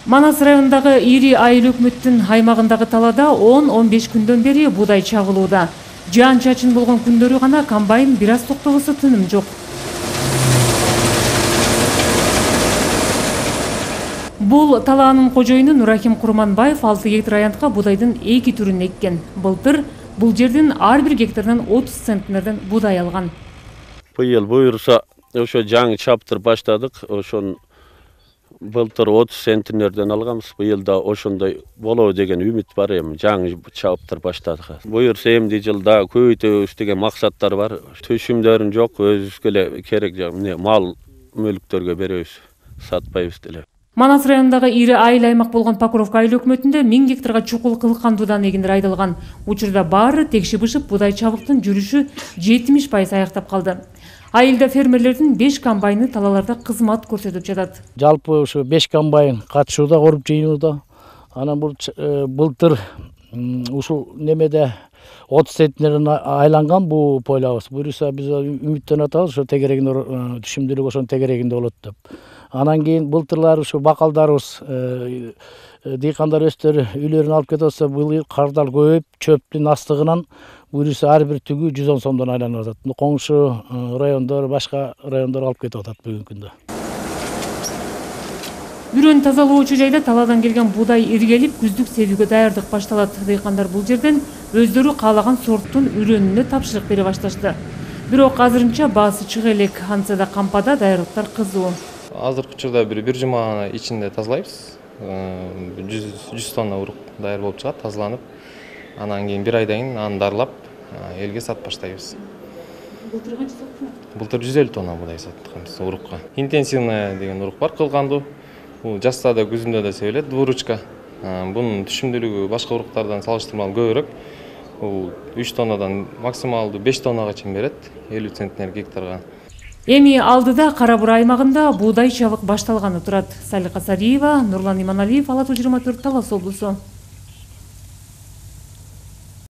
Манас районундагы ири айыл өкмөттүн аймагындагы талаада 10-15 күндөн бери буудай чагылууда. Жаан чачын болгон күндөрү гана комбайн бир аз токтогусу тыным жок. Бул талаанын кожоюну Нурахим Курманбаев 6 гектар аянтка буудайдын 2 түрүн эккен. Былтыр бул жердин ар бир гектарынан 30 центнерден буудай алган. Быйыл буюрса ошо жаңы чаптыр баштадык. Ошон былтыр 30 центнерден алганбыз. Быйыл да ошондой болобу деген үмүт бар эми. Жаңы чаптыр баштадык. Буюрса эмди жылда көбөйтөбүз деген максаттар бар. Төшүмдөрүн жок, өзүбүзгө эле керек мал мүлктөргө беребиз, сатпайбыз деле. Манас районундагы ири айыл аймак болгон Покровка айыл өкмөтүндө 1000 гектарга чукул кылкандуудан эгиндер айдалган. Учурда баары текши-бышып буудай чабыктын жүрүшү 70% аяктап калды. Айылда фермерлердин 5 комбайны талааларда кызмат көрсөтүп жатат. Жалпы ушу 5 комбайн катышууда, коруп жыйынууда. Анан былтыр ушул немеде 30 центнерден айланган бул пойлабыз. Буюрса биз үмүттөнүп атабыз, ошо тегерегинде түшүмдүүлүк ошонун тегерегинде болот деп. Анан кийин былтырлар ушу бакалдарыбыз, дыйкандар өздөрү үйлөрүн алып кетип атса, быйыл кардар көбөйүп, чөптүн астыгынан буюрса ар бир түгү 110 сомдон айланып атат. Коңшу райондор, башка райондор алып кетип атат бүгүнкү күндө. Үрөн тазалоочу жайда талаадан келген буудай иргелип, күздүк себүүгө даярдык башталат. Дыйкандар бул жерден өздөрү каалаган сорттун үрөнүнө тапшырык бере башташты. Бирок азырынча баасы чыга элек, антса да кампада даярдыктар кызуу. Азыркы учурда бир жума ичинде тазалайбыз. 100 тонна урук даяр болуп чыгат, тазаланып. Анан кийин бир айдан кийин аны дарылап, элге сатып баштайбыз. Былтыр канча саттыңар? Былтыр 150 тонна буудай саттык урукка. Интенсивная деген урук бар, кылгандуу. Бул жазда да, күзүндө да себилет, двуручка. Бунун түшүмдүүлүгү башка уруктардан салыштырмалуу көбүрөөк. Бул 3 тоннадан максималдуу 5 тоннага чейин берет, 50 центнер гектарга. Эми алдыда Кара Бура аймагында буудай чабык башталганы турат. Салика Сариева, Нурлан Иманалиев, Ала 24, Талас облусу.